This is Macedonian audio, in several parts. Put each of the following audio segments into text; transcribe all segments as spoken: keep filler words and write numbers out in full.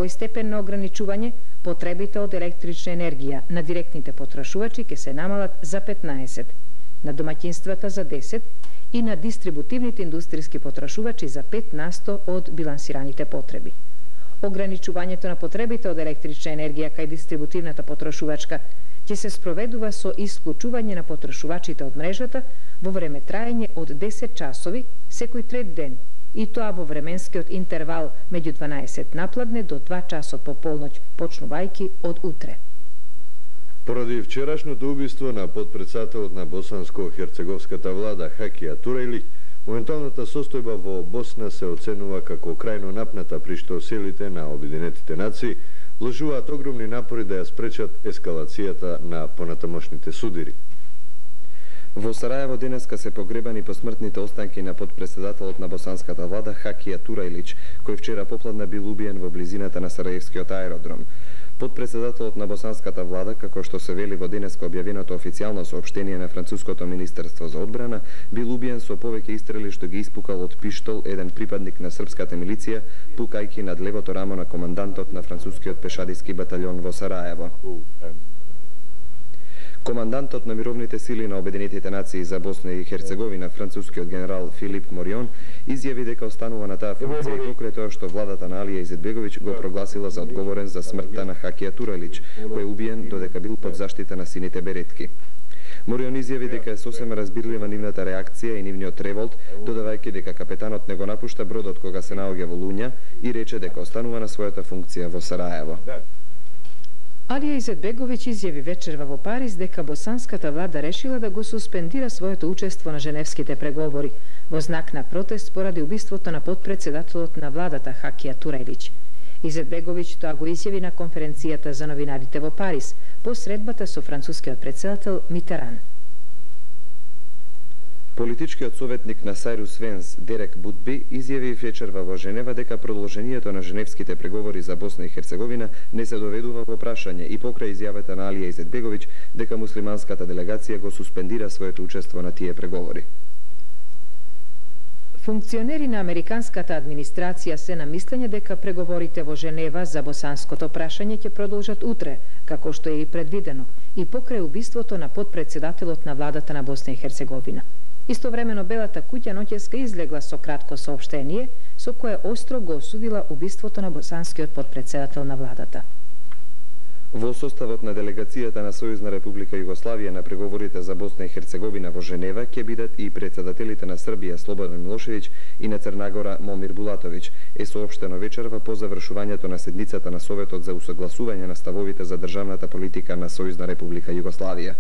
овој степен на ограничување, потребите од електрична енергија на директните потрошувачи ќе се намалат за петнаесет, на домаќинствата за десет и на дистрибутивните индустријски потрошувачи за пет на сто од билансираните потреби. Ограничувањето на потребите од електрична енергија кај дистрибутивната потрошувачка ќе се спроведува со исклучување на потрошувачите од мрежата во време траење од десет часови секој трет ден, и тоа во временскиот интервал меѓу дванаесет напладне до два часот по полноќ, почнувајќи од утре. Поради вчерашното убиство на подпредседателот на босанско-херцеговската влада Хакија Турајлиќ, моменталната состојба во Босна се оценува како крајно напната, при што силите на Обединетите нации вложуваат огромни напори да ја спречат ескалацијата на понатамошните судири. Во Сараево денеска се погребани посмртните останки на подпредседателот на босанската влада Хакија Турајлиќ, кој вчера попладна бил убиен во близината на Сараевскиот аеродром. Подпредседателот на босанската влада, како што се вели во денеска објавеното официјално соопштение на француското министерство за одбрана, бил убиен со повеќе истрели што ги испукал од пиштол еден припадник на српската милиција, пукајќи над левото рамо на командантот на францускиот пешадиски баталјон во Сараево. Командантот на мировните сили на Обединетите нации за Босна и Херцеговина, францускиот генерал Филип Морион, изјави дека останува на таа функција и покрај тоа што владата на Алија Изетбеговиќ го прогласила за одговорен за смртта на Хакија Турајлиќ, кој е убиен додека бил под заштита на сините беретки. Морион изјави дека е сосема разбирлива нивната реакција и нивниот револт, додавајќи дека капетанот не го напушта бродот кога се наоѓа во луња и рече дека останува на својата функција во Сараево. Алија Изетбеговиќ изјави вечерва во Париз дека босанската влада решила да го суспендира своето учество на женевските преговори во знак на протест поради убиството на подпредседателот на владата Хакија Турајлиќ. Изетбеговиќ тоа го изјави на конференцијата за новинарите во Париз по средбата со францускиот претседател Митеран. Политичкиот советник на Сайрус Венс, Дерек Будби, изјави вечерва во Женева дека продолжението на женевските преговори за Босна и Херцеговина не се доведува во прашање и покрај изјавата на Алија Изетбеговиќ дека муслиманската делегација го суспендира своето учество на тие преговори. Функционери на американската администрација се на мислење дека преговорите во Женева за босанското прашање ќе продолжат утре, како што е и предвидено, и покрај убиството на подпредседателот на владата на Босна и Херцеговина. Истовремено Белата куќа ноќеска излегла со кратко соопштение со кое остро го осудила убиството на босанскиот подпредседател на владата. Во составот на делегацијата на Сојузна република Југославија на преговорите за Босна и Херцеговина во Женева ќе бидат и председателите на Србија Слободан Милошевиќ и на Црна Гора Момир Булатовиќ, е соопштено вечерва по завршувањето на седницата на Советот за усогласување на ставовите за државната политика на Сојузна република Југославија.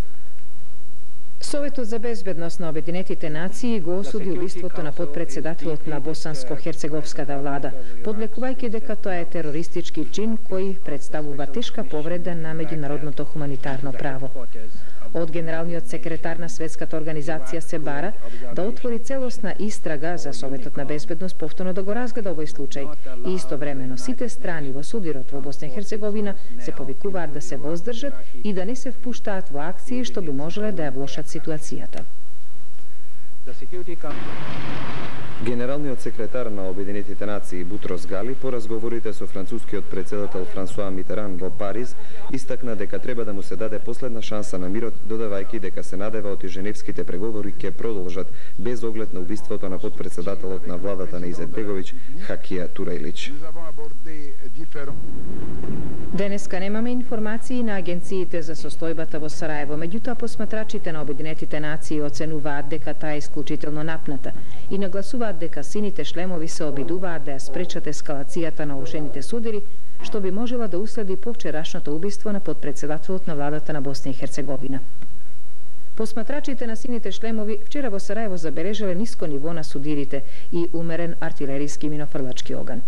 Советот за безбедност на Обединетите нации го осуди убиството на подпредседателот на босанско-херцеговската влада, подлекувајќи дека тоа е терористички чин кој представува тешка повреда на меѓународното хуманитарно право. Од генералниот секретар на Светската организација се бара да отвори целосна истрага за Советот на безбедност повторно да го разгледа овој случај и истовремено сите страни во судирот во Босна и Херцеговина се повикуваат да се воздржат и да не се впуштаат во акции што би можеле да ја влошат ситуацијата. Генералниот секретар на Обединетите нации Бутрос Гали по разговорите со францускиот претседател Франсуа Митеран во Париз истакна дека треба да му се даде последна шанса на мирот, додавајќи дека се надева оти женевските преговори ќе продолжат без оглед на убиството на подпредседателот на владата на Изетбеговиќ Хакија Турајлиќ. Денеска немаме информации на агенциите за состојбата во Сараево, меѓутоа посматрачите на Обединетите нации оценуваат дека таа е исклучително напната и нагласуваат дека сините шлемови се обидуваат да ја спречат ескалацијата на оушените судири, што би можела да уследи по вчерашното убиство на подпредседателот на владата на Босна и Херцеговина. Посматрачите на сините шлемови вчера во Сараево забележале ниско ниво на судирите и умерен артилериски минофрлачки оган.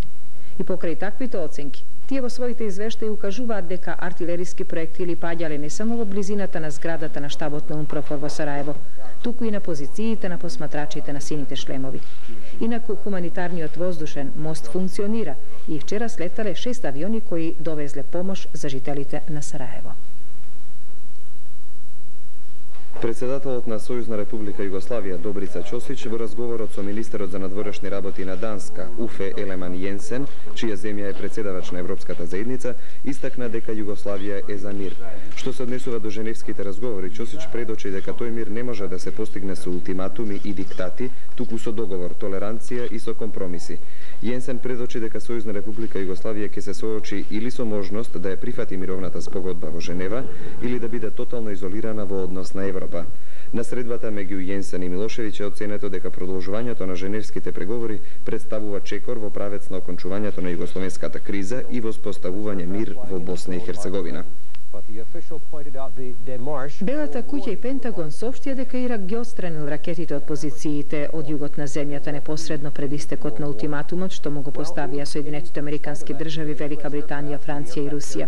И покрај таквите оценки, тие во своите извештаи укажуваат дека артилериски проектили паѓале не само во близината на зградата на штабот на УНПРОФОР во Сараево, туку и на позициите на посматрачите на сините шлемови. Инаку хуманитарниот воздушен мост функционира и вчера слетале шест авиони кои довезле помош за жителите на Сараево. Председателот на Сојузна република Југославија Добрица Ќосич во разговорот со министерот за надворешни работи на Данска Уфе Елеман Јенсен, чија земја е председавач на Европската заедница, истакна дека Југославија е за мир. Што се однесува до женевските разговори, Ќосич предочи дека тој мир не може да се постигне со ултиматуми и диктати, туку со договор, толеранција и со компромиси. Јенсен предочи дека Сојузна република Југославија ќе се соочи или со можност да ја прифати мировната спогодба во Женева, или да биде тотално изолирана во однос на Европа. На средбата меѓу Јенсен и Милошевиќ е оценето дека продолжувањето на женевските преговори представува чекор во правец на окончувањето на југословенската криза и воспоставување мир во Босна и Херцеговина. Белата куќа и Пентагон соопштија дека Ирак ги отстранил ракетите од позициите од југот на земјата непосредно пред истекот на ултиматумот што му го поставија Соединетите Американски држави, Велика Британија, Франција и Русија.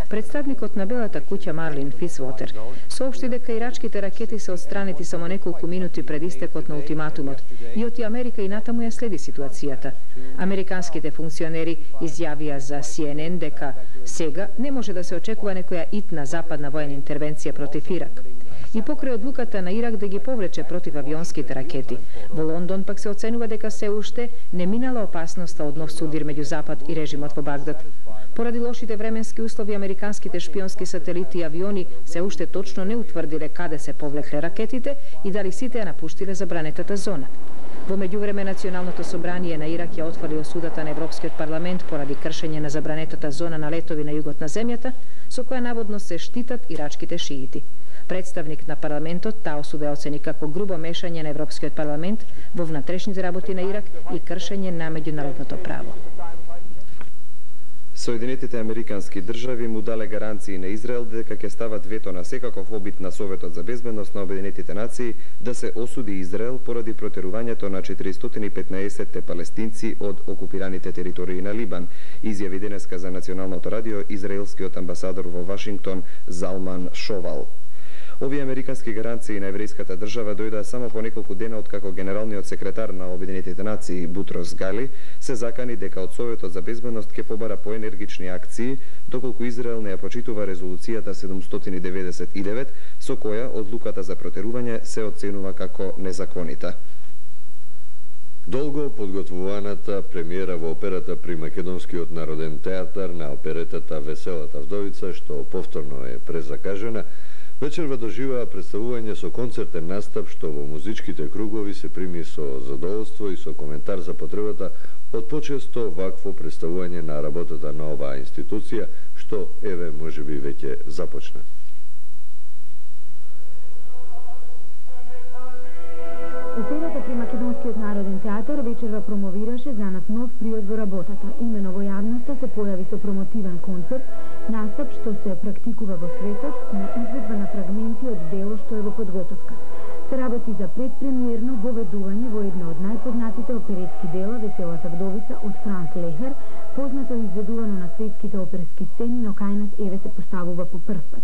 Представникот на Белата куќа Марлин Фицвотер соопшти дека ирачките ракети се отстранети само неколку минути пред истекот на ултиматумот и оти Америка и натаму ја следи ситуацијата. Американските функционери изјавија за Си Ен Ен дека сега не може да се очекува некоја итна западна воена интервенција против Ирак. И покрај одлуката на Ирак да ги повлече против авионските ракети, во Лондон пак се оценува дека се уште не минала опасноста од нов судир меѓу Запад и режимот во Багдад. Поради лошите временски услови, американските шпионски сателити и авиони се уште точно не утврдиле каде се повлекле ракетите и дали сите ја напуштиле забранетата зона. Во меѓувреме, Националното собрание на Ирак ја отфрли осудата на Европскиот парламент поради кршење на забранетата зона на летови на југот на земјата, со која наводно се штитат ирачките шиити. Представник на парламентот таа осуда ја оцени како грубо мешање на Европскиот парламент во внатрешните работи на Ирак и кршење на меѓународното право. Соединетите Американски држави му дале гаранции на Израел дека ќе стават вето на секаков обид на Советот за безбедност на Обединетите нации да се осуди Израел поради протерувањето на четиристотини и петнаесет палестинци од окупираните територии на Либан, изјави денеска за Националното радио израелскиот амбасадор во Вашингтон Залман Шовал. Овие американски гаранции на еврејската држава дојдоа само по неколку дена откако генералниот секретар на Обединетите нации Бутрос Гали се закани дека од Советот за безбедност ќе побара поенергични акции доколку Израел не ја почитува резолуцијата седумстотини деветдесет и девет со која одлуката за протерување се оценува како незаконита. Долго подготвуваната премиера во операта при Македонскиот народен театар на оперетата Веселата вдовица, што повторно е презакажена, вечерва доживаа представување со концертен настап што во музичките кругови се прими со задоволство и со коментар за потребата од почесто вакво представување на работата на оваа институција, што еве можеби веќе започна. Операта при Македонскиот народен театар вечерва промовираше за нас нов приод во работата. Имено во јавноста се појави со промотивен концерт, настап што се практикува во светот на изведба на фрагменти од дело што е во подготовка. Се работи за предпремиерно воведување во една од најпознатите оперетски дела Веселата вдовица од Франц Лехер, познато и изведувано на светските оперски сцени, но кај нас еве се поставува по прв пат.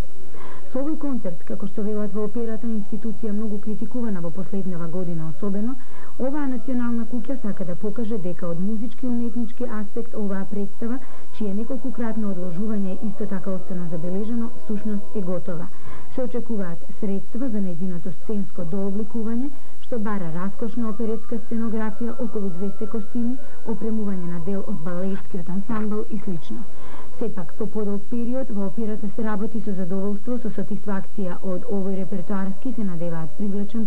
Со овој концерт, како што велат во операта, институција многу критикувана во последнава година особено, оваа национална куќа сака да покаже дека од музички и уметнички аспект оваа представа, чие неколкукратно одложување исто така остана забележано, сушност е готова. Се очекуваат средства за нејзиното сценско дообликување, што бара раскошна оперетска сценографија, околу двесте костими, опремување на дел од балетскиот ансамбл и слично. Сепак, по подолг период, во операта се работи со задоволство, со сатисфакција од овој репертоарски се надеваат привлечен